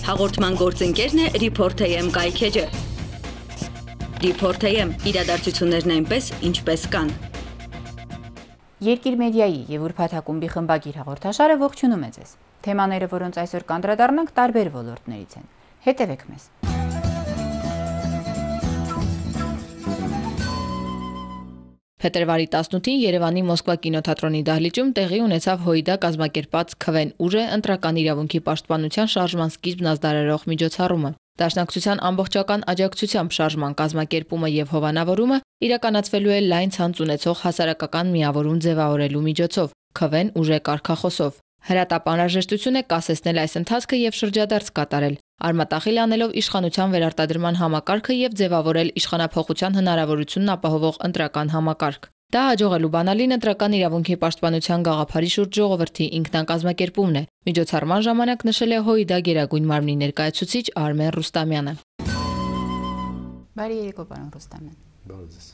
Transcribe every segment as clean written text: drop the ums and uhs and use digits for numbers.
Հաղորդման գործընկերն է Report AM կայքեջը։ Report AM իրադարձություններն այնպես, ինչպես կան։ Երկիր մեդիայի եւ Ուրբաթ ակումբի խմբագիր հաղորդաշարը ողջունում է ձեզ։ Թեմաները, որոնց այսօր կանդրադառնանք, տարբեր ոլորտներից են։ Հետևեք մեզ։ Փետրվարի 18-ին Երևանի Մոսկվա կինոթատրոնի դահլիճում տեղի ունեցավ ՀՅԴ կազմակերպած «Քվեն ուժ» ընտրական իրավունքի պաշտպանության շարժման սկիզբն ազդարարող միջոցառումը։ Դաշնակցության ամբողջական աջակցությամբ շարժման կազմակերպումը եւ հովանավորումը իրականացվելու է լայն ցանց ունեցող հասարակական միավորում ձևավորելու միջոցով՝ «Քվեն ուժ» կարգախոսով։ Հրատապ անհրաժեշտություն է կասեցնել այս ընթացքը եւ շրջադարձ կատարել, արմատախիլ անելով իշխանության վերարտադրման համակարգը եւ ձևավորել իշխանափոխության հնարավորությունն ապահովող ընտրական համակարգ։ Դա հաջողելու բանալին ընտրական իրավունքի պաշտպանության գաղափարի շուրջ ժողովրդի ինքնակազմակերպումն է։ Միջոցառման ժամանակ նշել է ՀՅԴ Գերագույն մարմնի ներկայացուցիչ Արմեն Ռուստամյանը։ Բարի երեկո, պարոն Ռուստամյան։ Բարի ձեզ։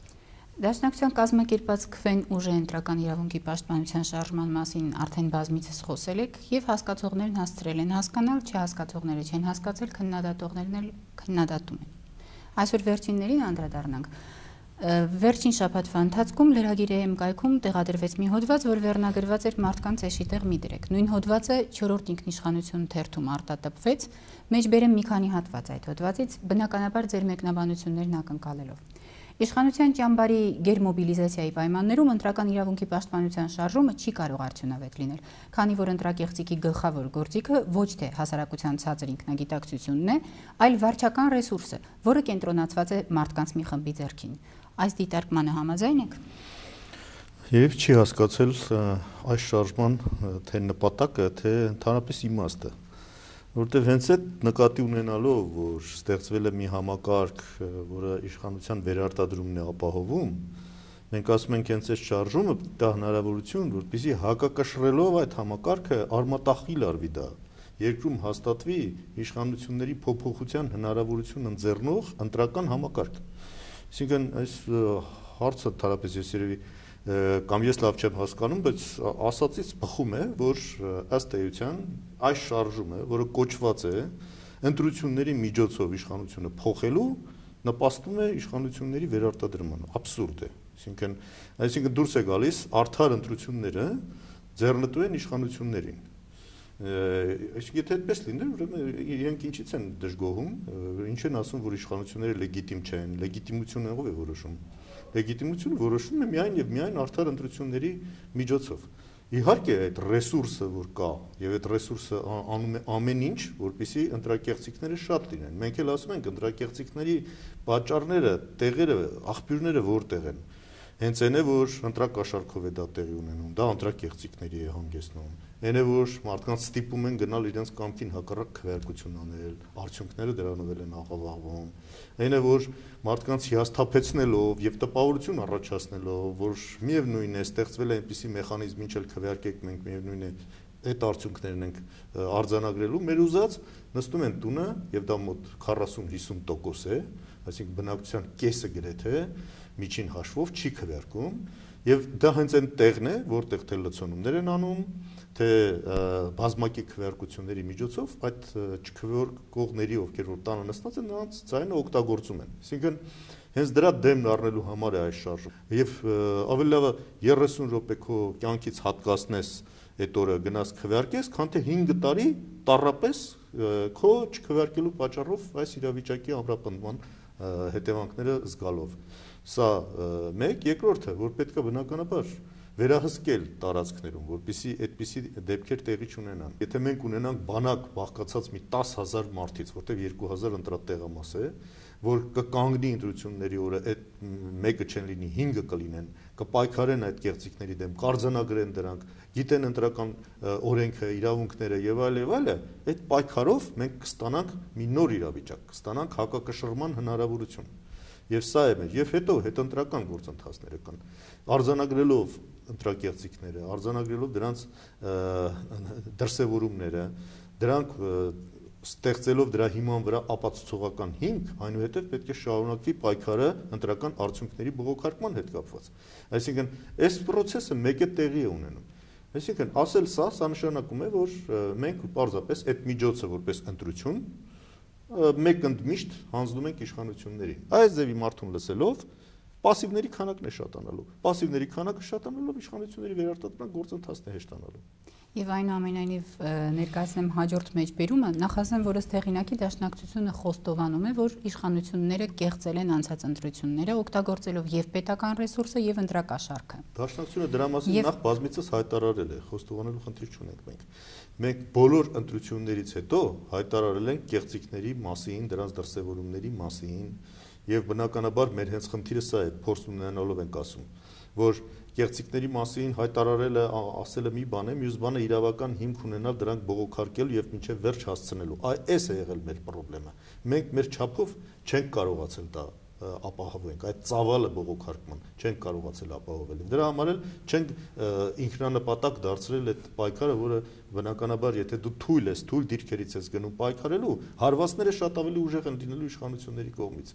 Դաշնակցության կազմակերպած «Քվեն ուժ» ընտրական իրավունքի պաշտպանության շարժման մասին արդեն բազմիցս խոսել եք եւ հասկացողներն հասցրել են հասկանալ, չհասկացողները չեն հասկացել, քննադատողներն էլ քննադատում են։ Այսօր վերջիններին անդրադառնանք։ Վերջին շաբաթվա ընթացքում Lragir.am կայքում տեղադրվեց մի հոդված, որ վերնագրված էր մարդկանց էշի տեղ մի դրեք։ Նույն հոդվածը 4-րդ ինքնիշխանություն թերթում արտատպվեց, մեջբերեմ մի քանի հատված այդ հոդվածից, բնականաբար ձեր մեկնաբանություններն ակնկալելով։ Իշխանության ճամբարի գերմոբիլիզացիայի պայմաններում ընտրական իրավունքի պաշտպանության շարժումը չի կարող արդյունավետ լինել, քանի որ ընտրակեղծիքի գլխավոր գործիքը ոչ թե հասարակության ցածր ինքնագիտակցությունն է, այլ վարչական ռեսուրսը, որը կենտրոնացված է մարդկանց մի խմբի ձեռքին։ Այս դիտարկմանը համաձայն եք։ Եվ չի հասկացել այս շարժման թե նպատակը, թե ընդհանրապես իմաստը, որտեղ հենց այդ նկատի ունենալով, որ ստեղծվել է մի համակարգ, որը իշխանության վերարտադրումն է ապահովում, մենք ասում ենք հենց այս շարժումը դա հնարավորություն, որպեսզի հակակշռելով այդ համակարգը արմատախիլ արվի դա, երկրում հաստատվի իշխանությունների փոփոխության հնարավորություն ընձեռնող ընտրական համակարգ։ Այսինքն այս հարցը թարապես ես երևի կամ ես լավ չեմ հասկանում, բայց ասածից բխում է, որ ըստ էության այս շարժումը, որը կոչված է ընտրությունների միջոցով իշխանությունը փոխելու, նպաստում է իշխանությունների վերարտադրմանը, աբսուրդ է։ Այսինքն դուրս է գալիս արդար ընտրությունները ձեռնտու են իշխանություններին։ Եթե այդպես լիներ, ուրեմն իրենք ինչից են դժգոհում, ինչ են ասում, որ իշխանությունները լեգիտիմ չեն, լեգիտիմությունը ով է որոշում։ Լեգիտիմությունը որոշվում է միայն եւ միայն արդար ընտրությունների միջոցով։ Իհարկե այդ ռեսուրսը, որ կա, եւ այդ ռեսուրսը անում է ամեն ինչ, որպեսզի ընտրակեղծիքները շատ լինեն։ Մենք էլ ասում ենք ընտրակեղծիքների պատճառները, տեղերը, աղբյուրները որտեղ են։ Հենց այն է, որ ընտրակաշառքով է դա տեղի ունենում, դա ընտրակեղծիքների է հանգեցնում։ Այն է, որ մարդկանց ստիպում են գնալ իրենց կամքին հակառակ քվեարկություն անել, արդյունքները դրանով են աղավաղվում։ Այն է, որ մարդկանց հիասթափեցնելով եւ տպավորություն առաջացնելով, որ միևնույն է ստեղծվել է այնպիսի մեխանիզմ, ինչ էլ քվեարկեք, մենք միևնույն է այդ արդյունքներն ենք արձանագրելու, մեր ուզած նստում են տունը եւ դա մոտ 40-50% է, այսինքն բնակչության կեսը գրեթե միջին հաշվով չի քվեարկում եւ դա հենց այն տեղն է, որտեղ թե լցոնումներ են անում, թե բազմակի քվեարկությունների միջոցով այդ չքվեարկողների, ովքեր որ տանը նստած են, նրանց ձայնը օգտագործում են։ Այսինքն հենց դրա դեմն առնելու համար է այս շարժումը։ Եվ ավելի լավ 30 րոպե քո կյանքից հատկացնես այդ օրը գնաս քվեարկես, քան թե 5 տարի տառապես քո չքվեարկելու պատճառով այս իրավիճակի ամրապնդման հետևանքները զգալով։ Սա մեկ, երկրորդը, որ պետք է բնականաբար վերահսկել տարածքներում, որպեսզի այդպիսի դեպքեր տեղի չունենան։ Եթե մենք ունենանք բանակ բաղկացած մի 10,000 մարդից, որտեղ 2000 ընտրատեղամաս է, որ կկանգնի ընտրությունների օրը այդ մեկը չեն լինի, 5-ը կլինեն, կպայքարեն այդ կեղծիքների դեմ, կարձանագրեն դրանք, գիտեն ընտրական օրենքը, իրավունքները եւ այլը, այդ պայքարով մենք կստանանք մի նոր իրավիճակ, կստանանք հակակշռման հնարավորություն։ Եվ սա է մեր, եւ հետո հետընտրական գործընթացները կան, արձանագրելով ընտրակեղծիքները, արձանագրելով դրանց դրսևորումները, դրանք ստեղծելով դրա հիման վրա ապացուցողական հիմք, այնուհետև պետք է շարունակվի պայքարը ընտրական արդյունքների բողոքարկման հետ կապված։ Այսինքն, այս process-ը մեկ է տեղի է ունենում։ Այսինքն ասել սա նշանակում է, որ մենք պարզապես այդ միջոցը որպես ընտրություն մեկ ընդմիշտ հանձնում ենք իշխանություններին։ Այս ձևի մարդուն լսելով պասիվների քանակն է շատանալու։ Պասիվների քանակը շատանալով իշխանությունների վերարտադրման գործընթացն է հեշտանալու։ Եվ այնուամենայնիվ ներկայացնեմ հաջորդ մեջբերումը, նախ ասեմ, որ ըստ հեղինակի դաշնակցությունը խոստովանում է, որ իշխանությունները կեղծել են անցած ընտրությունները, օգտագործելով եւ պետական ռեսուրսը եւ ընտրակաշառքը։ Դաշնակցությունը դրա մասին նախ բազմիցս հայտարարել է, խոստովանելու խնդիր չունենք մենք։ Մենք բոլոր ընտրություններից հետո հայտարարել ենք կեղծիքների մասին, դրանց դրսևորումների մասին, եւ բնականաբար մեր հենց խնդիրը սա է, փորձ ունենալով ենք ասում, որ կեղծիքների մասին հայտարարելը ասելը մի բան է, մյուս բանը իրավական հիմք ունենալ դրանք բողոքարկելու եւ մինչեւ վերջ հասցնելու։ Այս է եղել մեր խնդրումը։ Մենք մեր չափով չենք կարողացել դա ապահովենք, այդ ծավալը բողոքարկման չենք կարողացել ապահովել։ Դրա համար էլ չենք ինքնանպատակ դարձրել այդ պայքարը, որը բնականաբար եթե դու թույլ ես, թույլ դիրքերից ես գնում պայքարելու, հարվածները շատ ավելի ուժեղ են լինելու իշխանությունների կողմից։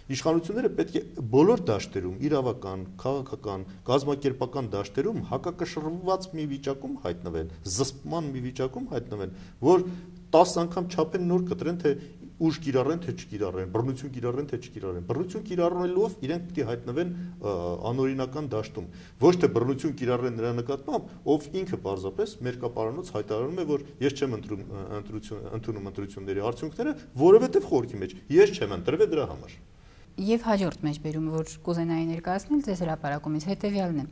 Իշխանությունները պետք է բոլոր դաշտերում, իրավական, քաղաքական, կազմակերպական դաշտերում հակակշռված մի վիճակում հայտնվեն, զսպման մի վիճակում հայտնվեն, որ 10 անգամ չափեն նոր կտրեն, թե ուժ կիրառեն, թե չկիրառեն, բռնություն կիրառեն, թե չկիրառեն։ Բռնություն կիրառելով իրենք պետք է հայտնվեն անօրինական դաշտում։ Ոչ թե բռնություն կիրառեն նրա նկատմամբ, ով ինքը պարզապես մերկապարանոց հայտարարում է, որ ես չեմ ընդունում ընտրությունների արդյունքները, որովհետև խորքի մեջ ես չեմ ընտրվել դրա համար։ Եվ հաջորդ մեջբերումը, որ կուզենայի ներկայացնել ձեզ հրապարակումից հետևյալն է։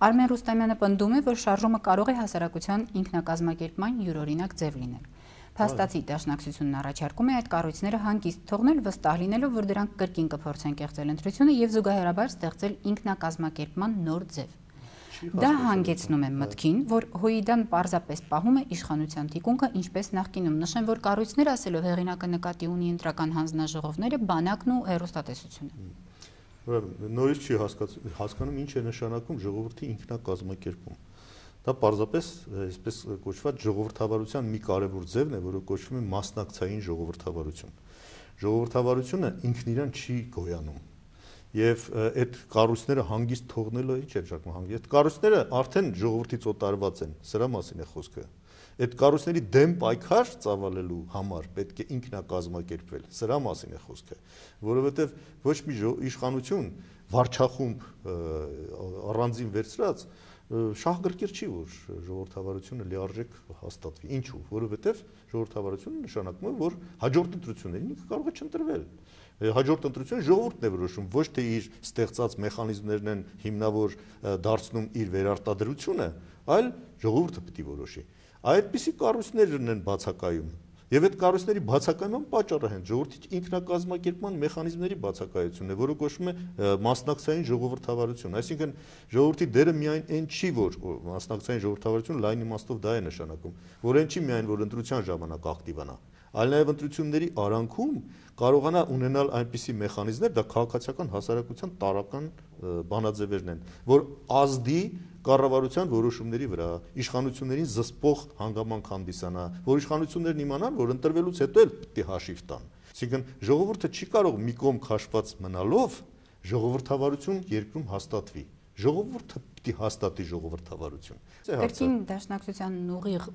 Արմեն Ռուստամյանը պնդում է, որ շարժումը կարող է հասարակության ինքնակազմակերպման յուրօրինակ ձև լինել։ Փաստացի դաշնակցությունն առաջարկում է այդ կառույցները հանգիստ թողնել, վստահ լինելով, որ դրանք կրկին կփորձեն կեղծել ընտրությունը եւ զուգահեռաբար ստեղծել ինքնակազմակերպման նոր ձև։ Դա հանգեցնում է մտքին, որ ՀՅԴ-ն պարզապես պահում է իշխանության թիկունքը, ինչպես նախկինում։ Նշեմ, որ կառույցները, ասելով հեղինակը, նկատի ունի ընտրական հանձնաժողովները, բանակն ու հեռուստատեսությունը։ Ուրեմն նորից չի հասկանում ինչ է նշանակում ժողովրդի ինքնակազմակերպում։ Դա պարզապես այսպես կոչված ժողովրդավարության մի կարևոր ձևն է, որը կոչվում է մասնակցային ժողովրդավարություն։ Ժողովրդավարությունը ինքն իրան չի գոյանում։ Եվ այդ կառույցները հանգիստ թողնելը ինչ է նշանակում հանգիստ։ Այդ կառույցները արդեն ժողովրդից օտարված են, սրա մասին է խոսքը։ Այդ կառույցների դեմ պայքար ծավալելու համար պետք է ինքնակազմակերպվել, սրա մասին է խոսքը, որովհետև ոչ մի իշխանություն վարչախումբ առանձին վերցրած շահգրկիր չի, որ ժողովրդավարությունը լիարժեք հաստատվի։ Ինչու՞, որովհետև ժողովրդավարությունը նշանակում է, որ հաջորդ ընտրություններին ինքը կարող է չընտրվել։ Հաջորդ ընտրությունը ժողովուրդն է որոշում, ոչ թե իր ստեղծած մեխանիզմներն են հիմնավոր դարձնում իր վերարտադրությունը, այլ ժողովուրդը պետք է որոշի։ Այդպիսի կառույցներն են բացակայում։ Եվ այդ կառույցների բացակայման պատճառը հենց ժողովրդի ինքնակազմակերպման մեխանիզմների բացակայությունն է, որը կոչվում է մասնակցային ժողովրդավարություն։ Այսինքն ժողովրդի դերը միայն այն չի, որ մասնակցային ժողովրդավարությունը լայն իմաստով դա է նշանակում, որ այն չի միայն որ ընտրության ժամանակ ակտիվանա, այլ նաև ընտրությունների արանքում կարողանա ունենալ այնպիսի մեխանիզմներ, դա քաղաքացիական հասարակության տարրական բանաձևերն են, որ ազդի կառավարության որոշումների վրա, իշխանություններին զսպող հանգամանք հանդիսանա, որ իշխանություններն իմանան, որ ընտրվելուց հետո էլ պետք է հաշիվ տան։ Այսինքն ժողովուրդը չի կարող մի կողմ քաշված մնալով ժողովրդավարություն երկրում հաստատվի։ Ժողովուրդը պետք է հաստատի ժողովրդավարություն։ Կրկին դաշնակցության ուղիղ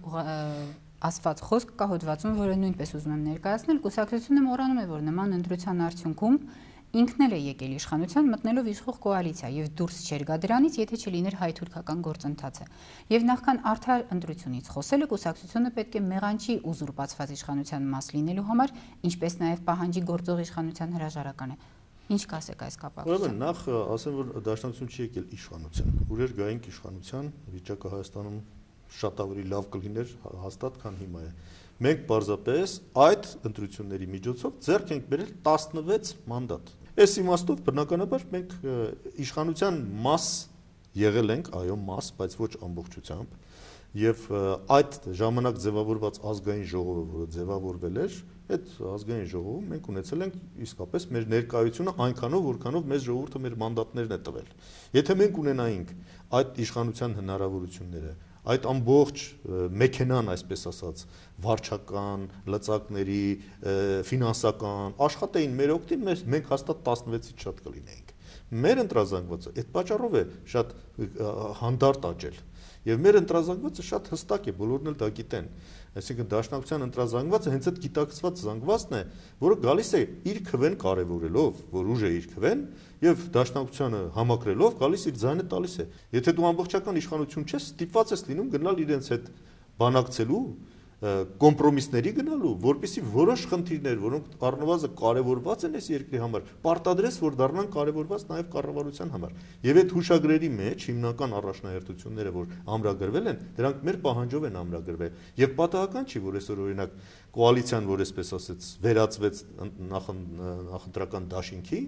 ասված խոսք կա հոդվածում, որը նույնպես ուզում եմ ներկայացնել, կուսակցությունը մոռանում է, որ նման ընտրության արդյունքում ինքն էլ է եկել իշխանության մտնելով իշխող կոալիցիա եւ դուրս չեր գա դրանից, եթե չլիներ հայ-թուրքական գործընթացը։ Եվ նախքան արդար ընտրությունից խոսելը կուսակցությունը պետք է մեղանչի ուզուրպացված իշխանության մաս լինելու համար, ինչպես նաեւ պահանջի գործող իշխանության հրաժարականը։ Ինչ կասեք այս կապակցությամբ։ Ուրեմն նախ ասեմ, որ դաշնակցություն չի եկել իշխանության, ուժեր գայինք իշխանության, վիճակը Հայաստանում շատ ավելի լավ կլիներ հաստատ, քան հիմա է։ Մենք պարզապես այդ ընտրությունների միջոցով ձեռք ենք բերել 16 մանդատ։ Այս իմաստով բնականաբար մենք իշխանության մաս եղել ենք, այո, մաս, բայց ոչ ամբողջությամբ, եւ այդ ժամանակ ձևավորված ազգային ժողովը, որը ձևավորվել էր, այդ ազգային ժողովում մենք ունեցել ենք իսկապես մեր ներկայությունը այնքանով, որքանով մեզ ժողովուրդը մեր մանդատներն է տվել։ Եթե մենք ունենայինք այդ իշխանության հնարավորությունները, այդ ամբողջ մեքենան, այսպես ասած, վարչական, լծակների, ֆինանսական աշխատեին մեր օգտին, մենք հաստատ 16-ից շատ կլինեինք։ Մեր ընտրազանգվածը այդ պատճառով է շատ հանդարտ աճել։ Եվ մեր ընտրազանգվածը շատ հստակ է, բոլորն էլ դա գիտեն։ Այսինքն դաշնակցության ընտրազանգվածը հենց այդ գիտակցված զանգվածն է, որը գալիս է իր քվեն կարևորելով, որ ուժ է իր քվեն, եւ դաշնակցությանը համակրելով գալիս իր ձայնը տալիս է։ Եթե դու ամբողջական իշխանություն չես, ստիպված ես լինում գնալ իրենց հետ բանակցելու, կոմպրոմիսների գնալու, որպեսզի որոշ խնդիրներ, որոնք առնվազն կարևորված են այս երկրի համար, պարտադրես, որ դառնան կարևորված նաև կառավարության համար։ Եվ այդ հուշագրերի մեջ հիմնական առաջնահերթությունները, որ ամրագրվել են, դրանք մեր պահանջով են ամրագրվել։ Եվ պատահական չի, որ այսօր օրինակ կոալիցիան, որ այսպես ասած, վերածվեց նախընտրական դաշինքի,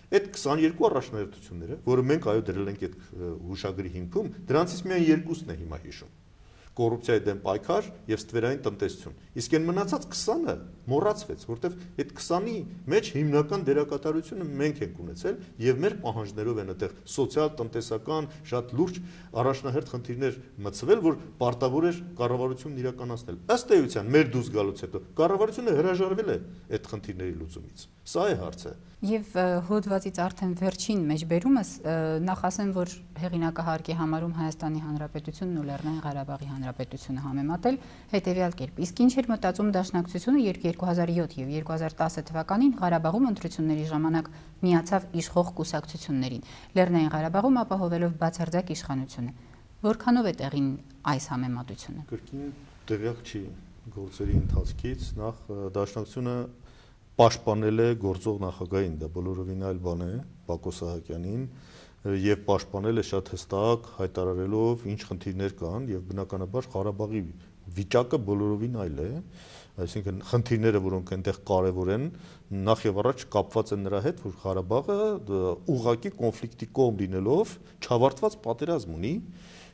այդ 22 առաջնահերթությունները, որը մենք այո դրել ենք այդ հուշագրի հիմքում, դրանցից միայն երկուսն է հիմա հիշում։ Կոռուպցիայի դեմ պայքար եւ ստվերային տնտեսություն։ Իսկ այն մնացած 20-ը մոռացվեց, որտեվ այդ 20-ի մեջ հիմնական դերակատարությունը մենք ենք ունեցել եւ մեր պահանջներով են այդտեղ սոցիալ-տնտեսական շատ լուրջ առաջնահերթ խնդիրներ մտցվել, որ պարտավոր էր կառավարությունն իրականացնել։ Ըստ էության մեր դուրս գալուց հետո կառավարությունը հրաժարվել է այդ խնդիրների լուծումից։ Սա է հարցը։ Եվ հոդվածից արդեն վերջին մեջբերումս նախ ասեմ, որ հեղինակը հարկ է համարում Հայաստանի Հանրապետությունն ու Լեռնային Ղարաբաղի Հանրապետությունը համեմատել հետևյալ կերպ։ Իսկ ինչ էր մտածում Դաշնակցությունը, երբ 2007 եւ 2010 թվականին Ղարաբաղում ընտրությունների ժամանակ միացավ իշխող կուսակցություններին, Լեռնային Ղարաբաղում ապահովելով բացարձակ իշխանությունը։ Որքանով է տեղին այս համեմատությունը։ Կրկին տեղյակ չի գործերի ընթացքից, նախ Դաշնակցությունը պաշտպանել է գործող նախագահին, դա բոլորովին այլ բան է, Բակո Սահակյանին, եւ պաշտպանել է շատ հստակ, հայտարարելով ինչ խնդիրներ կան եւ բնականաբար Ղարաբաղի վիճակը բոլորովին այլ է, այսինքն խնդիրները, որոնք այնտեղ կարեւոր են, նախ եւ առաջ կապված են նրա հետ, որ Ղարաբաղը ուղղակի կոնֆլիկտի կողմ լինելով չավարտված պատերազմ ունի,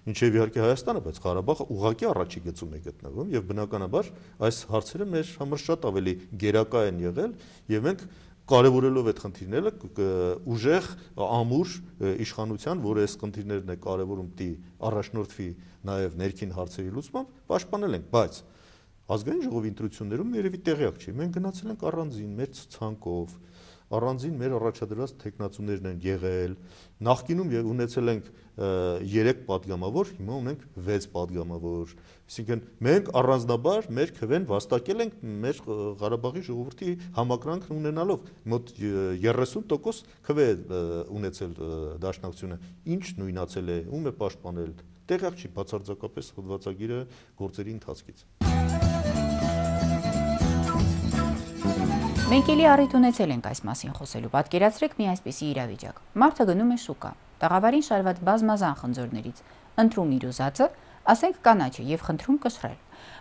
ինչեւ իհարկե Հայաստանը, բայց Ղարաբաղը ուղղակի առաջի գծում է գտնվում եւ բնականաբար այս հարցերը մեր համար շատ ավելի գերակա են եղել եւ մենք կարևորելով այդ խնդիրները ուժեղ ամուր իշխանության, որը այս խնդիրներն է կարևորում պիտի առաջնորդվի նաեւ ներքին հարցերի լուծմամբ, պաշտպանել ենք, բայց ազգային ժողովի ընտրություններում երևի տեղյակ չի, մենք գնացել ենք առանձին մեր ցանկով, առանձին մեր առաջադրած տեխնացուներն են եղել, նախկինում եւ ունեցել ենք 3 падգամավոր, հիմա ունենք 6 падգամավոր, այսինքն մենք առանձնաբար մեր քվեն վաստակել ենք մեր Ղարաբաղի ժողովրդի համակրանքն ունենալով, մոտ 30% քվե ունեցել Դաշնակցությունը, ինչ նույնացել է, ում է պաշտպանել, տեղյակ չի բացարձակապես հոդվածագիրը գործերի ընթացքից։ Մենք էլի առիթ ունեցել ենք այս մասին խոսելու, պատկերացրեք մի այսպիսի իրավիճակ։ Մարդը գնում է շուկա, տաղավարին շարված բազմազան խնձորներից, ընտրում իր ուզածը, ասենք կանաչը եւ խնդրում կշռել։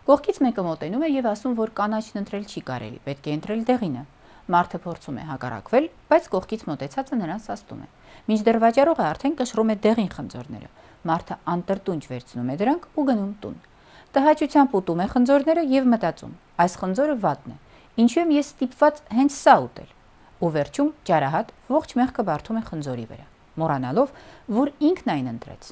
Կողքից մեկը մոտենում է եւ ասում, որ կանաչն ընտրել չի կարելի, պետք է ընտրել դեղինը։ Մարդը փորձում է հակառակվել, բայց կողքից մոտեցածը նրան սաստում է։ Մինչդեռ վաճառողը արդեն կշռում է դեղին խնձորները։ Մարդը անտրտունջ վերցնում է դրանք ու գնում տուն։ Տհաճությամբ ուտում է խնձորները եւ մտածում. այս խնձորը վատն է։ Ինչու եմ ես ստիպված հենց սա ուտել։ Ու վերջում ճարահատ ողջ մեղքը բարդում է խնձորի վրա, մոռանալով, որ ինքն այն ընտրեց։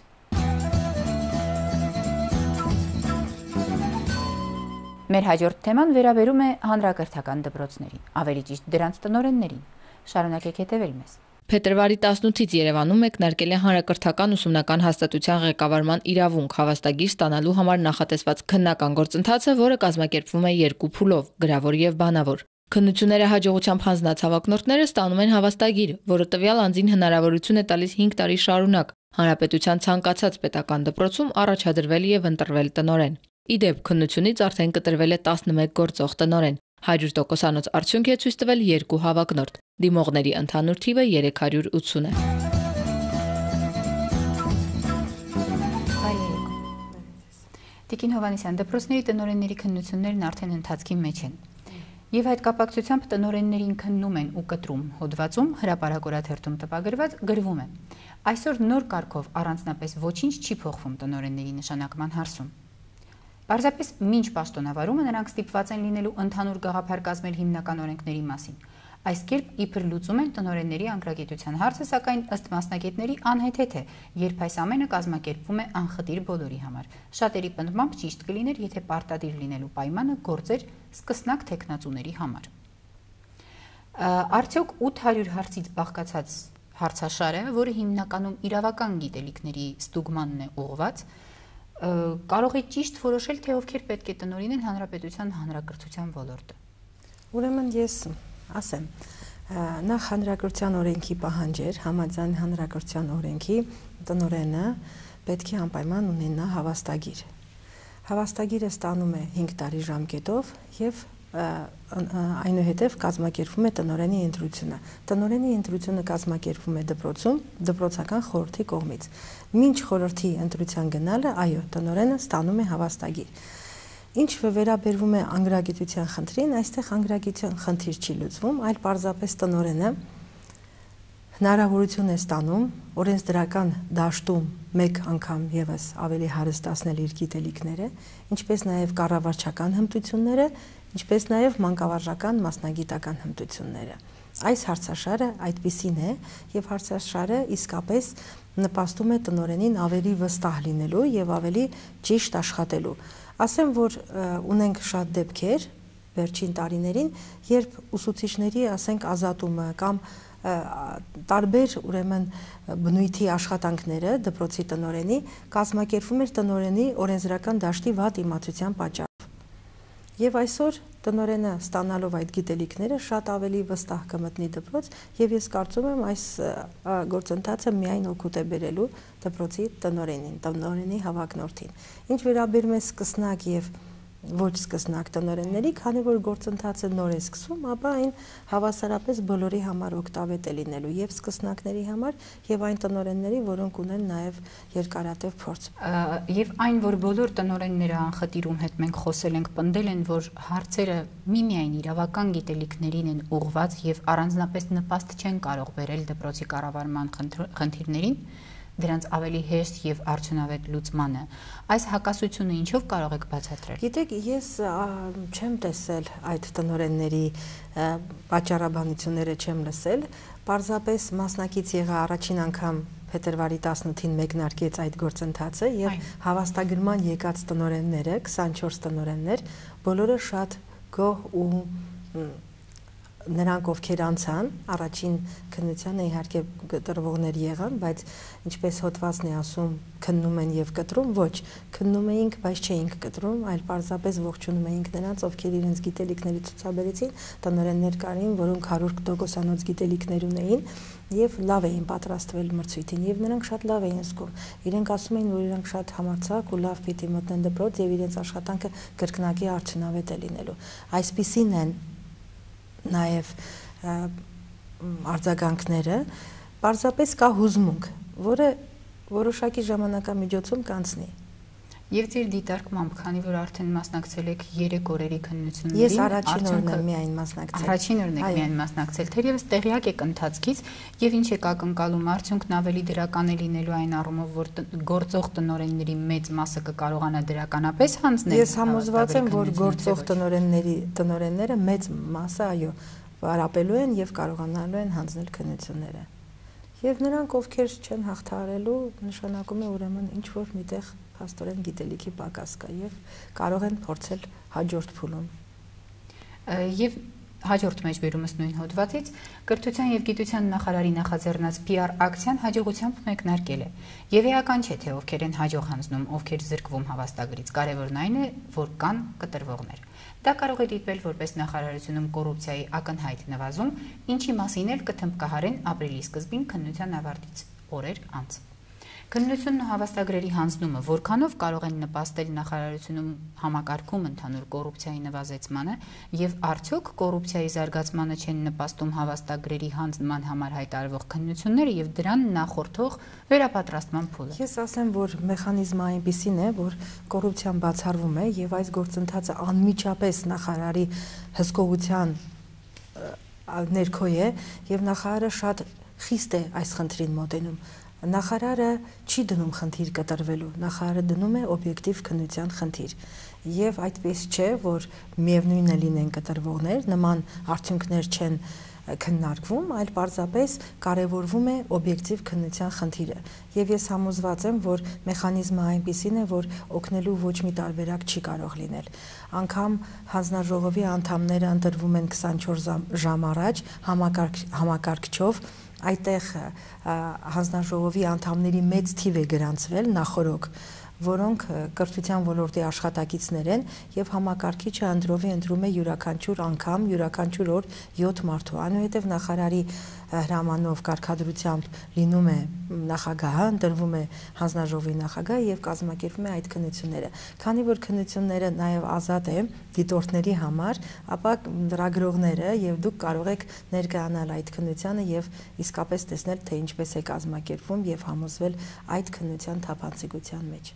Մեր հաջորդ թեման վերաբերում է հանրակրթական դպրոցներին, ավելի ճիշտ դրանց տնօրեններին։ Շարունակեք հետևել մեզ։ Փետրվարի 18-ից Երևանում մեկնարկել է հանրակրթական ուսումնական հաստատության ղեկավարման իրավունք հավաստագիր ստանալու համար նախատեսված քննական գործընթացը, որը կազմակերպվում է 2 փուլով՝ գրավոր եւ բանավոր։ Քննությունները հաջողությամբ հանձնած հավակնորդները ստանում են հավաստագիր, որը տվյալ անձին հնարավորություն է տալիս 5 տարի շարունակ հանրապետության ցանկացած պետական դպրոցում առաջադրվել եւ ընտրվել տնօրեն։ Ի դեպ, քննությունից արդեն կտրվել է 11 գործող տնօրեն։ 100%-անոց արդյունք է ցույց տվել 2 հավակնորդ։ Դիմողների ընդհանուր թիվը 380 է։ Տիկին Հովհաննիսյան, դպրոցների տնօրենների քննություններն արդեն ընթացքի մեջ են։ Եվ այդ կապակցությամբ տնօրեններին քննում են ու կտրում հոդվածում հրապարակորաթերթում տպագրված գրվում է. այսօր նոր կարգով առանձնապես ոչինչ չի փոխվում տնօրենների նշանակման հարցում։ Պարզապես մինչ պաշտոնավարումը նրանք ստիպված են լինելու ընդհանուր գաղափար կազմել հիմնական օրենքների մասին։ Այս կերպ իբր լուծում են տնօրենների անկրագիտության հարցը, սակայն ըստ մասնագետների անհեթեթ է, երբ այս ամենը կազմակերպվում է անխտիր բոլորի համար։ Շատերի պնդմամբ ճիշտ կլիներ, եթե պարտադիր լինելու պայմանը գործեր սկսնակ թեկնածուների համար։ Արդյոք 800 հարցից բաղկացած հարցաշարը, որը հիմնականում իրավական գիտելիքների ստուգմանն է ուղղված, կարող է ճիշտ որոշել, թե ովքեր պետք է տնօրինեն հանրապետության հանրակրթության ոլորտը։ Ուրեմն ես ասեմ, նախ հանրակրթության օրենքի պահանջեր, համաձայն հանրակրթության օրենքի տնօրենը պետք է անպայման ունենա հավաստագիր։ Հավաստագիրը ստանում է 5 տարի ժամկետով եւ այնուհետև կազմակերպվում է տնօրենի ընտրությունը։ Տնօրենի ընտրությունը կազմակերպվում է դպրոցում, դպրոցական խորհրդի կողմից։ Մինչ խորհրդի ընտրության գնալը, այո, տնօրենը ստանում է հավաստագիր։ Ինչ վերաբերվում է անգրագիտության խնդրին, այստեղ անգրագիտության խնդիր չի լուծվում, այլ պարզապես տնօրենը հնարավորություն է ստանում օրենսդրական դաշտում մեկ անգամ եւս ավելի հարստացնել իր գիտելիքները, ինչպես նաեւ կառավարչական հմտությունները, ինչպես նաև մանկավարժական մասնագիտական հմտությունները։ Այս հարցաշարը այդպիսին է եւ հարցաշարը իսկապես նպաստում է տնօրենին ավելի վստահ լինելու եւ ավելի ճիշտ աշխատելու։ Ասեմ, որ ունենք շատ դեպքեր վերջին տարիներին, երբ ուսուցիչների, ասենք, ազատումը կամ տարբեր ուրեմն բնույթի աշխատանքները դպրոցի տնօրենի կազմակերպվում էր տնօրենի օրենսդրական դաշտի վատ իմացության պատճառով։ Եվ այսօր տնօրենը ստանալով այդ գիտելիքները շատ ավելի վստահ կմտնի դպրոց եւ ես կարծում եմ այս գործընթացը միայն օգուտ է բերելու դպրոցի տնօրենին, տնօրենի հավակնորդին։ Ինչ վերաբերում է սկսնակ եւ ոչ սկսնակ տնօրենների, քանի որ գործընթացը նոր է սկսվում, ապա այն հավասարապես բոլորի համար օգտավետ է լինելու եւ սկսնակների համար եւ այն տնօրենների, որոնք ունեն նաեւ երկարատև փորձ։ Եվ այն, որ բոլոր տնօրենները անխտիրում հետ մենք խոսել ենք, պնդել են, որ հարցերը միմիայն իրավական գիտելիքներին են ուղղված եւ առանձնապես նպաստ չեն կարող բերել դպրոցի կառավարման խնդիրներին, դրանց ավելի հեշտ եւ արդյունավետ լուծմանը։ Այս հակասությունը ինչով կարող եք բացատրել։ Գիտեք, ես չեմ տեսել այդ տնօրենների պատճառաբանությունները չեմ լսել, պարզապես մասնակից եղա առաջին անգամ փետրվարի 18-ին մեկնարկեց այդ գործընթացը եւ հավաստագրման եկած տնօրենները, 24 տնօրեններ, բոլորը շատ գոհ ու նրանք ովքեր անցան, առաջին քննությանը իհարկե կտրվողներ եղան, բայց ինչպես հոդվածն է ասում, քննում են եւ կտրում, ոչ, քննում էինք, բայց չէինք կտրում, այլ պարզապես ողջունում էինք նրանց, ովքեր իրենց գիտելիքների ցուցաբերեցին, տնօրեններ կային, որոնք 100%-անոց գիտելիքներ ունեին եւ լավ էին պատրաստվել մրցույթին եւ նրանք շատ լավ էին զգում։ Իրենք ասում էին, որ իրենք շատ համարձակ ու լավ պիտի մտնեն դպրոց եւ իրենց աշխատանքը կրկնակի արդյունավետ է լինելու։ Այսպիսին են նաև արձագանքները, պարզապես կա հուզմունք, որը որոշակի ժամանակամիջոցում կանցնի։ Եվ ձեր դիտարկմամբ, քանի որ արդեն մասնակցել եք 3 օրերի քննություններին, ես առաջին օրն եմ միայն մասնակցել։ Առաջին օրն եք միայն մասնակցել, թերևս տեղյակ եք ընթացքից եւ ինչ եք ակնկալում, արդյունքն ավելի դրական է լինելու այն առումով, որ գործող տնօրենների մեծ մասը կկարողանա դրականապես հանձնել։ Ես համոզված եմ, որ գործող տնօրենները մեծ մասը, այո, վարապելու են եւ կարողանալու են հանձնել քննությունները։ Եվ նրանք, ովքեր չեն հաղթահարելու, նշանակում է ուրեմն ինչ որ միտեղ փաստորեն գիտելիքի պակաս կա եւ կարող են փորձել հաջորդ փուլում։ Եվ հաջորդ մեջբերումս նույն հոդվածից կրթության եւ գիտության նախարարի նախաձեռնած PR ակցիան հաջողությամբ մեկնարկել է։ Եվ էական չէ, թե ովքեր են հաջող հանձնում, ովքեր զրկվում հավաստագրից, կարևորն այն է, որ կան կտրվողներ։ Դա կարող է դիտվել որպես նախարարությունում կոռուպցիայի ակնհայտ նվազում, ինչի մասին էլ կթմբկահարեն ապրիլի սկզբին քննության ավարտից օրեր անց։ Քննությունն ու հավաստագրերի հանձնումը որքանով կարող են նպաստել նախարարությունում համակարգում ընդհանուր կոռուպցիայի նվազեցմանը եւ արդյոք կոռուպցիայի զարգացմանը չեն նպաստում հավաստագրերի հանձնման համար հայտարարվող քննությունները եւ դրան նախորդող վերապատրաստման փուլը։ Ես ասեմ, որ մեխանիզմը այնպիսին է, որ կոռուպցիան բացառվում է եւ այս գործընթացը անմիջապես նախարարի հսկողության ներքո է եւ նախարարը շատ խիստ է այս խնդրին մոտենում։ Նախարարը չի դնում խնդիր կտրվելու, նախարարը դնում է օբյեկտիվ քննության խնդիր եւ այդպես չէ, որ միևնույնն է լինեն կտրվողներ, նման արդյունքներ չեն քննարկվում, այլ պարզապես կարևորվում է օբյեկտիվ քննության խնդիրը եւ ես համոզված եմ, որ մեխանիզմը այնպիսին է, որ օգնելու ոչ մի տարբերակ չի կարող լինել։ Անկամ հանձնաժողովի անդամները ընտրվում են 24 ժամ առաջ համակարգչով այդտեղ հանձնաժողովի անդամների մեծ թիվ է գրանցվել նախորոք, որոնք կրթության ոլորտի աշխատակիցներ են եւ համակարգիչը ընտրում է յուրաքանչյուր անգամ, յուրաքանչյուր օր 7 մարդու։ Այնուհետեւ նախարարի հրամանով կարգադրությամբ լինում է նախագահը, ընտրվում է հանձնաժողովի նախագահը եւ կազմակերպվում է այդ քննությունները։ Քանի որ քննությունները նաեւ ազատ է դիտորդների համար, ապա լրագրողները եւ դուք կարող եք ներկայանալ այդ քննությանը եւ իսկապես տեսնել, թե ինչպես է կազմակերպվում եւ համոզվել այդ քննության թափանցիկության մեջ։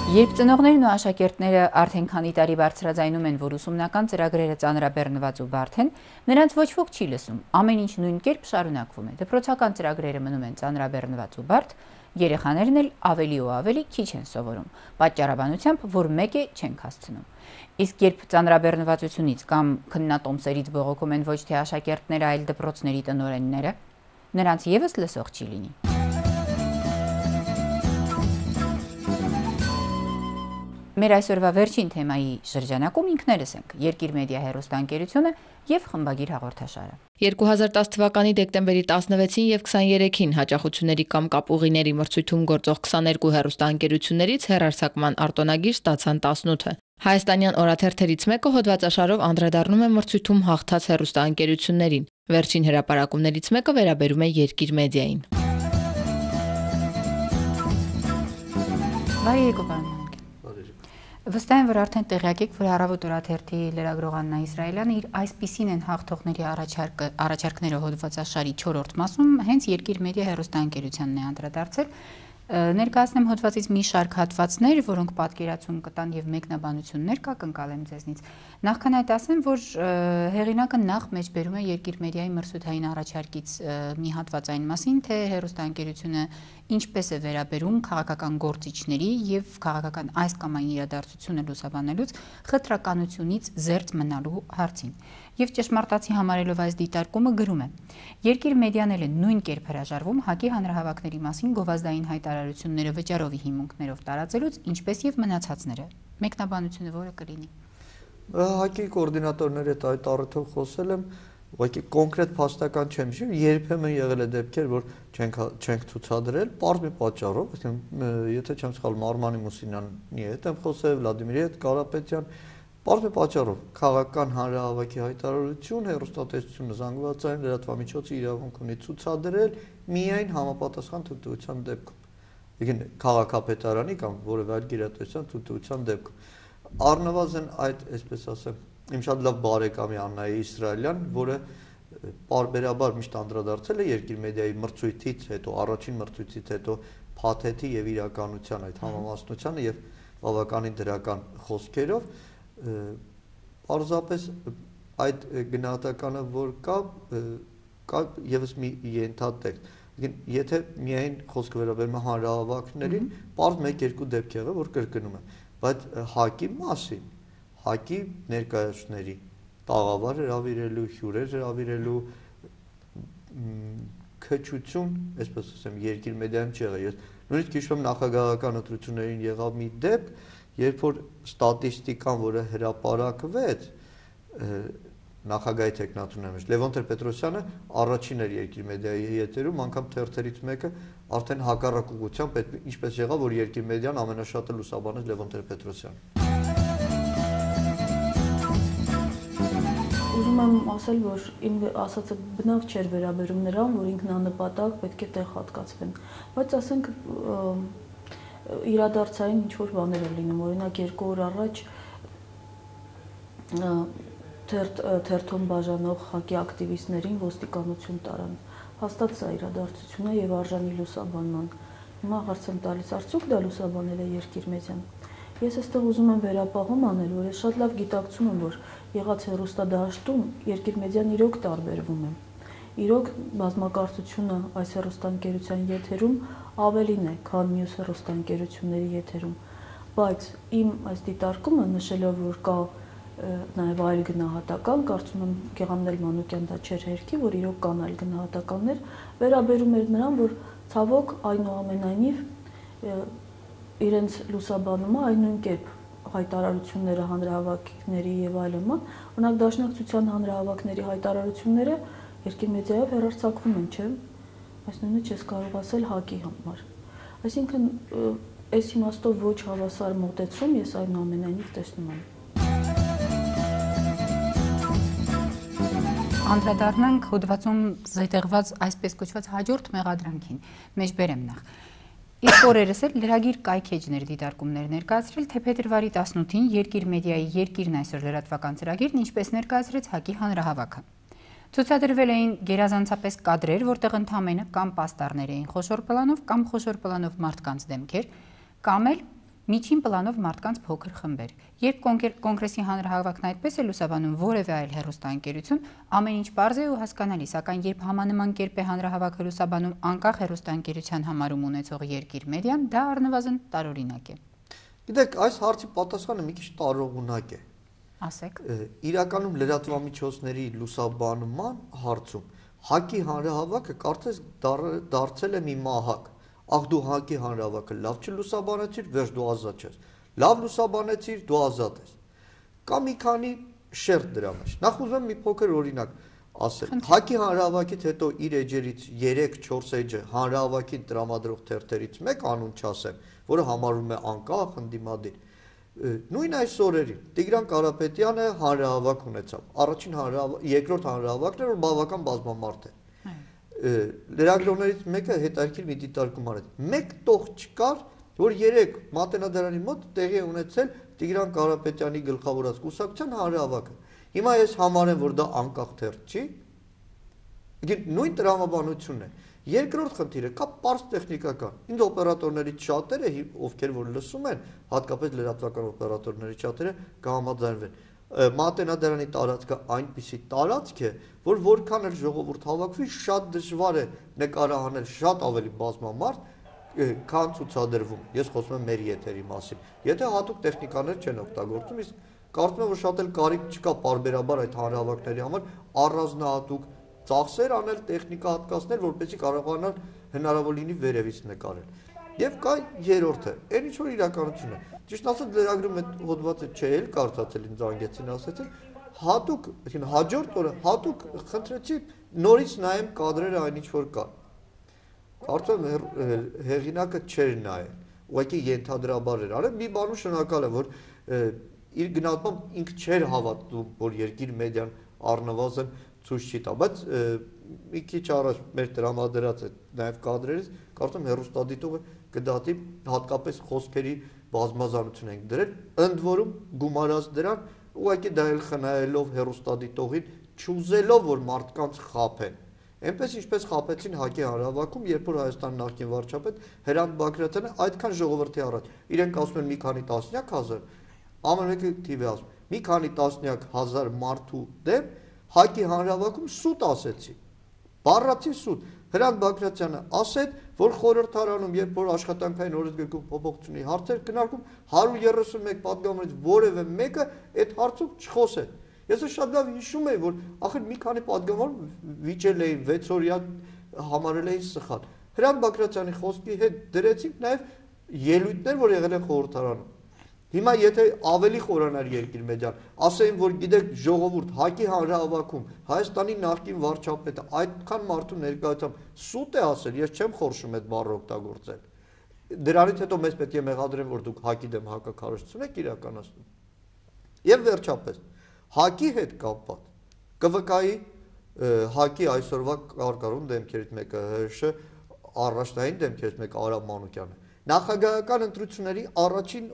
Երբ ծնողներն ու աշակերտները արդեն քանի տարի բարձրաձայնում են, որ ուսումնական ծրագրերը ծանրաբեռնված ու բարդ են, նրանց ոչ ոք չի լսում։ Ամեն ինչ նույն կերպ շարունակվում է։ Դպրոցական ծրագրերը մնում են ծանրաբեռնված ու բարդ, երեխաներն էլ ավելի ու ավելի քիչ են սովորում, պատճառաբանությամբ, որ մեկ է չենք հասցնում։ Իսկ երբ ծանրաբեռնվածությունից կամ քննատոմսերից բողոքում են ոչ թե աշակերտները, այլ դպրոցների տնօրենները, նրանց ևս լսող չի լինի։ Մեր այսօրվա վերջին թեմայի շրջանակում ինքներս ենք Երկիր մեդիա հեռուստաընկերությունը եւ խմբագիր հաղորդաշարը։ 2010 թվականի դեկտեմբերի 16-ին եւ 23-ին հաճախությունների կամ կապուղիների մրցույթում գործող 22 հեռուստաընկերություններից հեռարձակման արտոնագիր ստացան 18-ը։ Հայաստանյան օրաթերթերից մեկը հոդվածաշարով անդրադառնում է մրցույթում հաղթած հեռուստաընկերություններին։ Վերջին հրապարակումներից մեկը վերաբերում է Երկիր մեդիային։ Բարի եկեք։ Վստահ եմ, որ արդեն տեղյակ եք, որ Առավոտ օրաթերթի լրագրող Աննա Իսրայելյանը իր այսպիսին են հաղթողների առաջարկները հոդվածաշարի 4-րդ մասում հենց Երկիր մեդիա հեռուստաընկերությանն է անդրադարձել։ Ներկայացնեմ հոդվածից մի շարք հատվածներ, որոնք պատկերացում կտան եւ մեկնաբանություններ կակնկալեմ ձեզնից։ Նախքան այդ ասեմ, որ հեղինակը նախ մեջբերում է Երկիր մեդիայի մրցութային առաջարկից մի հատված այն մասին, թե հեռուստաընկերությունը ինչպես է վերաբերում քաղաքական գործիչների եւ քաղաքական այս կամ այն իրադարձությունը լուսաբանելուց խտրականությունից զերծ մնալու հարցին։ Եվ ճշմարտացի համարելով այս դիտարկումը գրում է. Երկիր մեդիան էլ է նույն կերպ հրաժարվում ՀԱԿ-ի հանրահավաքների մասին գովազդային հայտարարությունները վճարովի հիմունքներով տարածելուց, ինչպես եւ մնացածները։ Մեկնաբանությունը որը կլինի։ ՀԱԿ-ի կոորդինատորների այդ առիթով խոսել եմ, ուղղակի կոնկրետ փաստական չեմ հիշում, երբեմն եղել է դեպքեր, որ չենք ցուցադրել, պարզ մի պատճառով, եթե չեմ սխալվում, Արմանի Մուսինյանի հետ եմ խոսել, Վլադիմիրի հետ, Կարապետյան, պարզ մի պատճառով, քաղաքական հանրահավաքի հայտարարություն, հեռուստատեսությունը զանգվածային լրատվամիջոցի իրավունք ունի ցուցադրել միայն համապատասխան թույլտվության դեպքում։ Եկին քաղաքապետարանի կամ որևէ այլ գերատեսչության թույլտվության դեպքում։ Առնվազն այդ, այսպես ասեմ, իմ շատ լավ բարեկամի Աննայի Իսրայելյան, որը պարբերաբար միշտ անդրադարձել է Երկիր մեդիայի մրցույթից հետո, առաջին մրցույթից հետո փաթեթի եւ իրականության այդ համամասնությանը եւ բավականին դրական խոսքերով, պարզապես այդ գնահատականը, որ կա եւս մի ենթատեքստ։ Եթե միայն խոսքը վերաբերում է հանրահավաքներին, պարզ 1-2 դեպք եղավ, որ կրկնում եմ, բայց ՀԱԿ-ի մասին, ՀԱԿ-ի ներկայացուցիչների տաղավար հրավիրելու, հյուրեր հրավիրելու քչություն, այսպես ասեմ, Երկիր մեդիայում չեղա։ Ես նույնիսկ հիշում եմ նախագահական ընտրություններին եղավ մի դեպք, երբ որ ստատիստիկան, որը հրապարակվեց նախագահի թեկնածուների մեջ, Լևոն Տեր-Պետրոսյանը առաջին էր Երկիր մեդիայի եթերում, անգամ թերթերից մեկը արդեն հակառակ ուղղությամբ, ինչպես եղավ, որ Երկիր մեդիան ամենաշատը լուսաբանեց Լևոն Տեր-Պետրոսյանը։ Ուզում եմ ասել, որ իմ ասածը բնավ չէր վերաբերում նրան, որ ինքնանպատակ պետք է տեղ հատկացվեն, բայց ասենք իրադարձային ինչ-որ բաներ են լինում, օրինակ 2 օր առաջ թերթում բաժանող ՀԱԿ-ի ակտիվիստներին ոստիկանություն տարան։ Հաստատ սա իրադարձություն է եւ արժանի լուսաբանման։ Հիմա հարց եմ տալիս, արդյոք դա լուսաբանել է Երկիր մեդիան։ Ես այստեղ ուզում եմ վերապահում անել, որ ես շատ լավ գիտակցում եմ, որ եղած հեռուստադաշտում Երկիր մեդիան իրոք տարբերվում է։ Իրոք բազմակարծությունը այս հեռուստաընկերության եթերում ավելին է, քան մյուս հեռուստաընկերությունների եթերում, բայց իմ այս դիտարկումը նշելով, որ կա նաև այլ գնահատական, կարծում եմ Գեղամնել Մանուկյան դա չէր հերքի, որ իրոք կան այլ գնահատականներ, վերաբերում էր նրան, որ ցավոք այնուամենայնիվ իրենց լուսաբանումը այն նույն կերպ հայտարարությունները հանրահավաքների եւ այլն, օրինակ Դաշնակցության հանրահավաքների հայտարարությունները երկիր մեդիայով հեռարձակվում են, չէ՞։ Այս նույնը չես կարող ասել ՀԱԿ-ի համար։ Այսինքն այս իմաստով ոչ հավասար մոտեցում ես այնուամենայնիվ տեսնում եմ։ Անդրադառնանք հոդվածում զետեղված այսպես կոչված հաջորդ մեղադրանքին, մեջ բերեմ նախ։ Իսկ օրերս էլ լրագիր կայքեջներ դիտարկումներ ներկայացրել, թե փետրվարի 18-ին Երկիր մեդիայի Երկիրն այսօր լրատվական ծրագիրն ինչպես ներկայացրեց ՀԱԿ-ի հանրահավաքը։ Ցուցադրվել էին գերազանցապես կադրեր, որտեղ ընդամենը կամ պաստառներ էին խոշոր պլանով կամ խոշոր պլանով մարդկանց դեմքեր, կամ էլ միջին պլանով մարդկանց փոքր խմբեր։ Երբ կոնգրեսի հանրահավաքն այդպես է լուսաբանում որևէ այլ հեռուստաընկերություն, ամեն ինչ պարզ է ու հասկանալի, սակայն երբ համանման կերպ է հանրահավաքը լուսաբանում անկախ հեռուստաընկերության համարում ունեցող Երկիր մեդիան, դա առնվազն տարօրինակ է։ Գիտեք, այս հարցի պատասխանը մի քիչ տարօրինակ է։ Ասեք։ Իրականում լրատվամիջոցների լուսաբանման հարցում ՀԱԿ-ի հանրահավաքը կարծես դարձել է մի մահակ։ Ախ դու ՀԱԿ-ի հանրահավաքը լավ չլուսաբանեցիր, վերջ դու ազատ ես։ Լավ լուսաբանեցիր, դու ազատ ես։ Կա մի քանի շերտ դրա մեջ։ Նախ ուզում եմ մի փոքր օրինակ ասել։ ՀԱԿ-ի հանրահավաքից հետո իր էջերից 3-4 էջը հանրահավաքին տրամադրող թերթերից մեկ անուն չասեմ, որը համարվում է անկախ, ընդդիմադիր։ Նույն այս օրերին Տիգրան Կարապետյանը հանրահավաք ունեցավ։ Առաջին երկրորդ հանրահավաքն էր, որ բավական բազմամարդ է։ Լրագրողներից մեկը հետաքրքիր մի դիտարկում արեց։ Մեկ տող չկար, որ 3 Մատենադարանի մոտ տեղի ունեցել Տիգրան Կարապետյանի գլխավորած կուսակցության հանրահավաքը։ Հիմա ես համարեմ, որ դա անկախ թերթ չի։ Նույն տրամաբանությունն է։ Երկրորդ խնդիրը կա պարզ տեխնիկական։ Ինձ օպերատորներից շատերը, ովքեր որ լսում են, հատկապես լրատվական օպերատորներից շատերը կհամաձայնվեն։ Մատենադարանի տարածքը այնպիսի տարածք է, որ որքան էլ ժողովուրդ հավաքվի, շատ դժվար է նկարահանել շատ ավելի բազմամարդ, քան ցուցադրվում։ Ես խոսում եմ մեր եթերի մասին։ Եթե հատուկ տեխնիկաներ չեն օգտագործում, իսկ կարծում եմ, որ շատ էլ կարիք չկա պարբերաբար այդ հանրահավաքների համար առանձնահատուկ ծախսեր անել, տեխնիկա հատկացնել, որպեսզի կարողանան հնարավոր լինի վերևից նկարել։ Եվ կա երրորդը, այն ինչ որ իրականություն է։ Ճիշտ ասած լրագրում այդ հոդվածը չէ էլ կարծացել ինձ անգեցին ասեցին, հատուկ, հաջորդ օրը հատուկ խնդրեցի նորից նայեմ կադրերը այն ինչ որ կա։ Կարծում եմ հեղինակը չէր նայել, ուղղակի ենթադրաբար էր արել, մի բանում շնորհակալ եմ, որ իր գնահատմամբ ինքը չէր հավատում, որ Երկիր մեդիան առնվազն ցույց չի տա, բայց մի քիչ առաջ մեր տրամադրած այդ նաև կադրերից կարծում եմ հեռուստադիտողը կդատի հատկապես խոսքերի բազմազանություն ենք դրել, ընդ որում գումարած դրան ուղղակի դա էլ խնայելով հեռուստադիտողին, չուզելով որ մարդկանց խաբեն։ Այնպես ինչպես խաբեցին ՀԱԿ-ի հանրահավաքում, երբ որ Հայաստանի նախկին վարչապետ Հրանտ Բագրատյանը այդքան ժողովրդի առաջ, իրենք ասում են մի քանի տասնյակ հազար, ամեն մեկը թիվ է ասում, մի քանի տասնյակ հազար մարդու դեմ ՀԱԿ-ի հանրահավաքում սուտ ասեցի, բառացի սուտ։ Հրանտ Բագրատյանը ասեց, որ խորհրդարանում, երբ որ աշխատանքային օրենսգրքում փոփոխությունների հարցեր քննարկում, 131 պատգամներից որևէ մեկը այդ հարցով չխոսեց։ Ես շատ լավ հիշում եմ, որ ախր մի քանի պատգամավոր վիճել էին 6 օրյա համարել էին սխալ։ Հրանտ Բագրատյանի խոսքի հետ դրեցինք նաև ելույթներ, որ եղել են խորհրդարանում։ Հիմա եթե ավելի խորանար Երկիր մեդիան, ասեին, որ գիտեք ժողովուրդ ՀԱԿ-ի հանրահավաքում Հայաստանի նախկին վարչապետը այդքան մարդու ներկայությամբ սուտ է ասել, ես չեմ խորշում այդ բառը օգտագործել։ Դրանից հետո մեզ պետք է մեղադրեն, որ դուք ՀԱԿ-ի դեմ հակակարողություն եք իրականացնում։ Եվ վերջապես ՀԱԿ-ի հետ կապված ԿՎԿ-ի ՀԱԿ-ի այսօրվա կարգառուն դեմքերից մեկը ՀՀՇ առաջնային դեմքերից մեկը Արամ Մանուկյանը։ Նախագահական ընտրությունների առաջին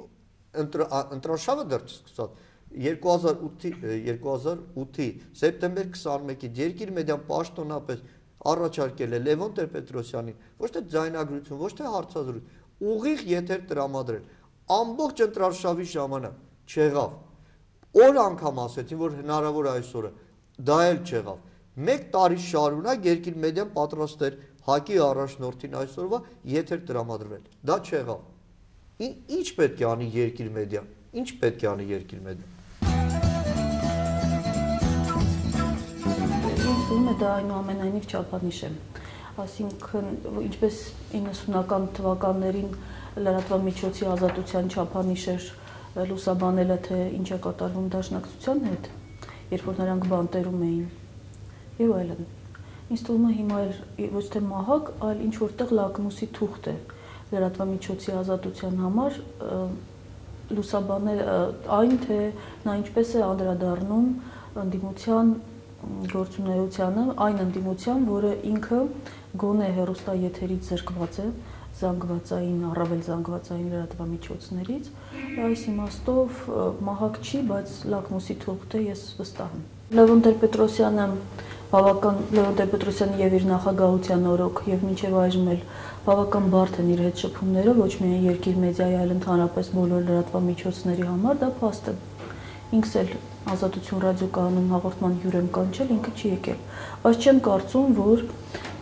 ընտրաշավը դեռ չսկսած 2008-ի սեպտեմբեր 21-ից Երկիր մեդիան պաշտոնապես առաջարկել է Լևոն Տեր-Պետրոսյանին ոչ թե ձայնագրություն, ոչ թե հարցազրույց, ուղիղ եթեր տրամադրել։ Ամբողջ ընտրաշավի ժամանակ չեղավ։ Օր անգամ ասեցին, որ հնարավոր այսօրը, դա էլ չեղավ։ 1 տարի շարունակ Երկիր մեդիան պատրաստ էր ՀԱԿ-ի առաջնորդին այսօրվա եթեր տրամադրվել։ Դա չեղավ։ Ինչ պետք է անի Երկիր մեդիան։ Ինչ պետք է անի Երկիր մեդիան։ Ինձ թվում է դա այնուամենայնիվ չափանիշ է։ Այսինքն ինչպես 90-ական թվականներին լրատվամիջոցի ազատության չափանիշ էր լուսաբանելը, թե ինչ է կատարվում դաշնակցության հետ, երբ որ նրանք բանտերում էին եւ այլն։ Ինձ թվում է հիմա ոչ թե մահակ, այլ ինչ որտեղ լակմուսի թուղթ է լրատվամիջոցի ազատության համար լուսաբանել այն, թե նա ինչպես է անդրադառնում ընդդիմության գործունեությանը, այն ընդդիմության, որը ինքը գոնե հեռուստաեթերից զրկված է, զանգվածային, առավել զանգվածային լրատվամիջոցներից, այս իմաստով մահակ չի, բայց լակմուսի թուղթ է, ես վստահ եմ։ Լևոն Տեր-Պետրոսյանը Լևոն Տեր-Պետրոսյանը եւ իր նախագահության օրոք եւ մինչեւ այժմ էլ բավական բարդ են իր հետ շփումները, ոչ միայն երկիր մեդիայի, այլ ընդհանրապես բոլոր լրատվամիջոցների համար, դա փաստ է։ Ինքս էլ Ազատություն ռադիոկայանում հաղորդման հյուր եմ կանչել, ինքը չի եկել, բայց չեմ կարծում, որ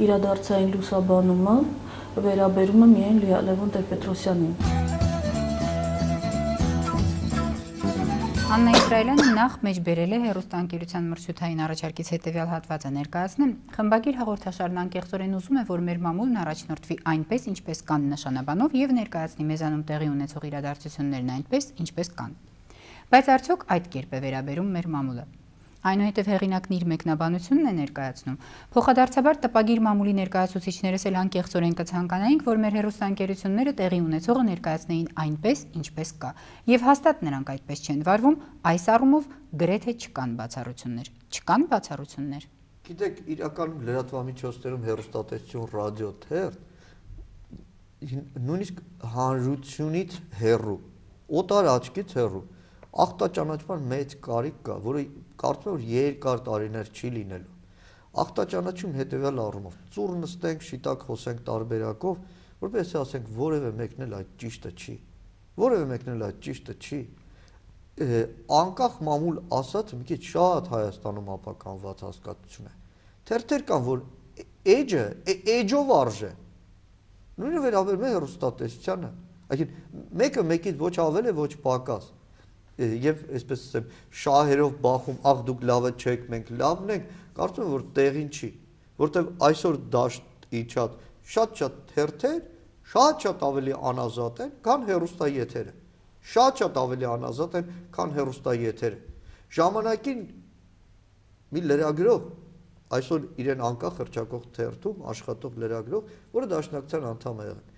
իրադարձային լուսաբանումը վերաբերում է միայն Լևոն Տեր-Պետրոսյանին։ Աննա Իսրայելյանը նախ մեջ բերել է հեռուստաընկերության մրցութային առաջարկից հետևյալ հատվածը ներկայացնեմ։ Խմբագիր հաղորդաշարն անկեղծորեն ուզում է, որ մեր մամուլն առաջնորդվի այնպես, ինչպես կան նշանաբանով եւ ներկայացնի մեզանում տեղի ունեցող իրադարձություններն այնպես, ինչպես կան։ Բայց արդյոք այդ կերպ է վերաբերում մեր մամուլը։ Այնուհետև հեղինակն իր մեկնաբանությունն է ներկայացնում։ Փոխադարձաբար տպագիր մամուլի ներկայացուցիչներս էլ անկեղծորեն կցանկանայինք, որ մեր հեռուստաընկերությունները տեղի ունեցողը ներկայացնեին այնպես, ինչպես կա։ Եվ հաստատ նրանք այդպես չեն վարվում, այս առումով գրեթե չկան բացառություններ։ Չկան բացառություններ։ Գիտեք, իրականում լրատվամիջոցներում հեռուստատեսություն, ռադիո, թերթ նույնիսկ հանրությունից հեռու, օտար աչքից հեռու ախտաճանաչման մեծ կարիք կա, որը կարծում եմ, որ երկար տարիներ չի լինելու։ Ախտաճանաչում հետևյալ առումով, ծուռ նստենք, շիտակ խոսենք տարբերակով, որպեսզի ասենք որևէ մեկն էլ այդ ճիշտը չի։ Որևէ մեկն էլ այդ ճիշտը չի։ Անկախ մամուլ ասած մի քիչ շատ Հայաստանում ապականված հասկացություն է։ Թերթեր կան, որ էջը, էջով արժե։ Նույնը վերաբերում է հեռուստատեսությանը։ Այսինքն մեկը մեկից ոչ ավել է, ոչ պակաս։ Եվ այսպես ասեմ, շահերով բախում, ախ դուք լավը չեք, մենք լավն ենք, կարծում եմ, որ տեղին չի, որտեղ այսօր դաշտ իջած շատ թերթեր շատ ավելի անազատ են, քան հեռուստաեթերը։ Շատ ավելի անազատ են, քան հեռուստաեթերը։ Ժամանակին մի լրագրող, այսօր իրեն անկախ հռչակող թերթում աշխատող լրագրող, որը դաշնակցության անդամ է եղել։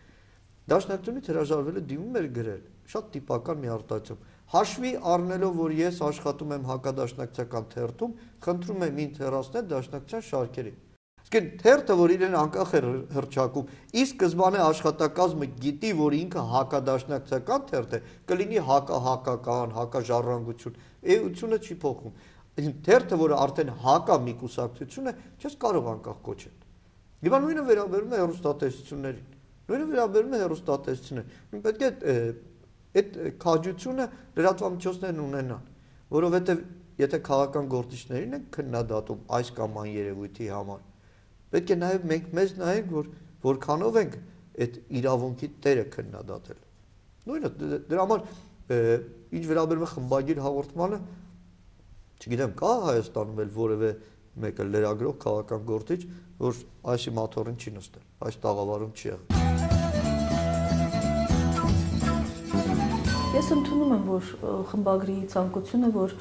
Դաշնակցությունից հրաժարվել է դիմում էր գրել, շատ տիպական մի արտահայտություն։ Հաշվի առնելով, որ ես աշխատում եմ հակադաշնակցական թերթում, խնդրում եմ ինձ հեռացնել դաշնակցության շարքերից։ Իսկ թերթը, որ իրեն անկախ է հռչակում, ի սկզբանե աշխատակազմը գիտի, որ ինքը հակադաշնակցական թերթ է, կլինի հակահակական, հակաժառանգություն, էությունը չի փոխում։ Թերթը, որը արդեն հակա մի կուսակցություն է, չես կարող անկախ կոչել։ Եվ նույնը վերաբերում է հեռուստատեսություններին։ Նույնը վերաբերում է հեռուստատեսություններին։ Պետք է այդ քաջությունը լրատվամիջոցներն ունենան, որովհետև եթե քաղաքական գործիչներին են քննադատում այս կամ այն երևույթի համար, պետք է նաև մենք մեզ նայենք, որ որքանով ենք այդ իրավունքի տերը քննադատել։ Նույնը դրա համար ինչ վերաբերում է խմբագիր հաղորդմանը, չգիտեմ, կա Հայաստանում էլ որևէ մեկը լրագրող քաղաքական գործիչ, որ այս մաթոռին չի նստել, այս տաղավարում չի եղել։ Ես ընդունում եմ, որ խմբագրի ցանկությունը, որ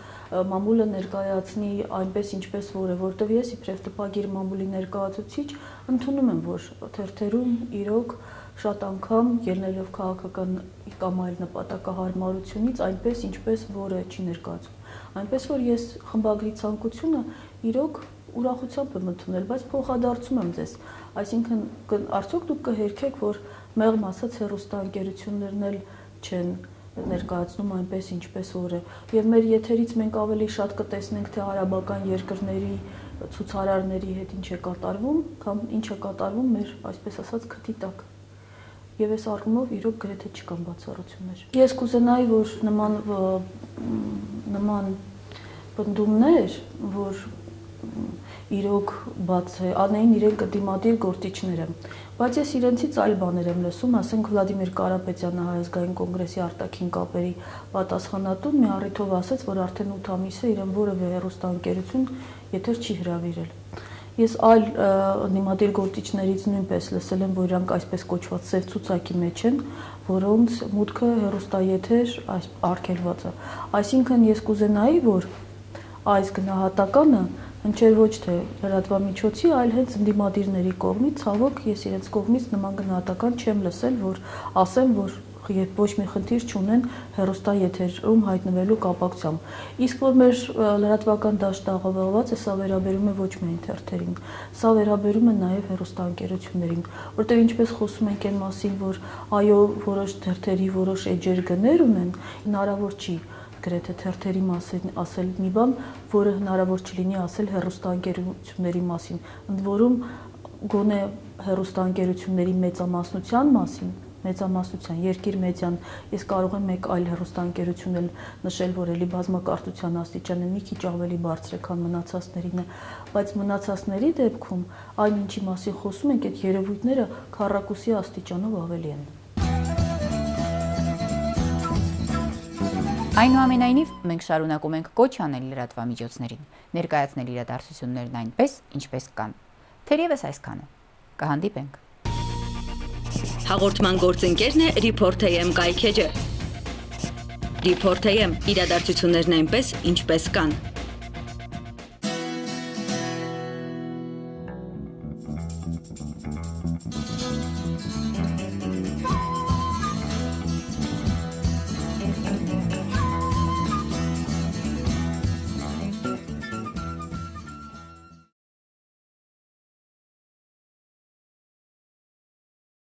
մամուլը ներկայացնի այնպես, ինչպես որ է, որտեղ ես իբրև տպագիր մամուլի ներկայացուցիչ ընդունում եմ, որ թերթերում իրոք շատ անգամ ելնելով քաղաքական կամ այլ նպատակահարմարությունից այնպես, ինչպես որը չի ներկայացում։ Այնպես որ ես խմբագրի ցանկությունը իրոք ուրախությամբ եմ ընդունել, բայց փոխադարձում եմ ձեզ, այսինքն արդյոք դուք կհերքեք, որ մեղմ ասած հեռուստաընկերություններն էլ չեն ներկայացնում այնպես, ինչպես որ է։ Եվ մեր եթերից մենք ավելի շատ կտեսնենք, թե արաբական երկրների ցուցարարների հետ ինչ է կատարվում, կամ ինչ է կատարվում մեր, այսպես ասած, քթի տակ։ Եվ այս առումով իրոք գրեթե չկան բացառություններ։ Ես կուզենայի, որ նման պնդումներ, որ իրոք բաց է, անեին իրենք դիմադիր գործիչները, բայց ես իրենցից այլ բաներ եմ լսում, ասենք Վլադիմիր Կարապետյանը Հայ ազգային կոնգրեսի արտաքին կապերի պատասխանատուն մի առիթով ասաց, որ արդեն 8 ամիս է իրեն որևէ հեռուստաընկերություն եթեր չի հրավիրել։ Ես այլ դիմադիր գործիչներից նույնպես լսել եմ, որ իրանք այսպես կոչված սև ցուցակի մեջ են, որոնց մուտքը հեռուստաեթեր արգելված է։ Այսինքն ես կուզենայի, որ այս գնահատականը հնչեր ոչ թե լրատվամիջոցի, այլ հենց ընդդիմադիրների կողմից, ցավոք, ես իրենց կողմից նման գնահատական չեմ լսել, որ ասեմ, որ ոչ մի խնդիր չունեն հեռուստաեթերում հայտնվելու կապակցությամբ։ Իսկ որ մեր լրատվական դաշտը աղավաղված է, սա վերաբերում է ոչ միայն թերթերին, սա վերաբերում է նաև հեռուստաընկերություններին, որտեղ ինչպես խոսում ենք այն մասին, որ այո, որոշ թերթերի որոշ էջեր գներ ունեն, հնարավոր չի գրեթե թերթերի մասին ասել մի բան, որը հնարավոր չլինի ասել հեռուստաընկերությունների մասին, ընդ որում գոնե հեռուստաընկերությունների մեծամասնության մասին, Երկիր մեդիան, ես կարող եմ մեկ այլ հեռուստաընկերություն էլ նշել, որ էլի բազմակարծության աստիճանը մի քիչ ավելի բարձր է, քան մնացածներինը, բայց մնացածների դեպքում այն ինչի մասին խոսում ենք, այդ երևույթները քառակուսի աստիճանով ավելի են։ Այնուամենայնիվ, մենք շարունակում ենք կոչ անել լրատվամիջոցներին, ներկայացնել իրադարձություններն այնպես, ինչպես կան։ Թերևս այսքանը։ Կհանդիպենք։ Հաղորդման գործընկերն է Report.am կայքեջը։ Report.am իրադարձություններն այնպես, ինչպես կան։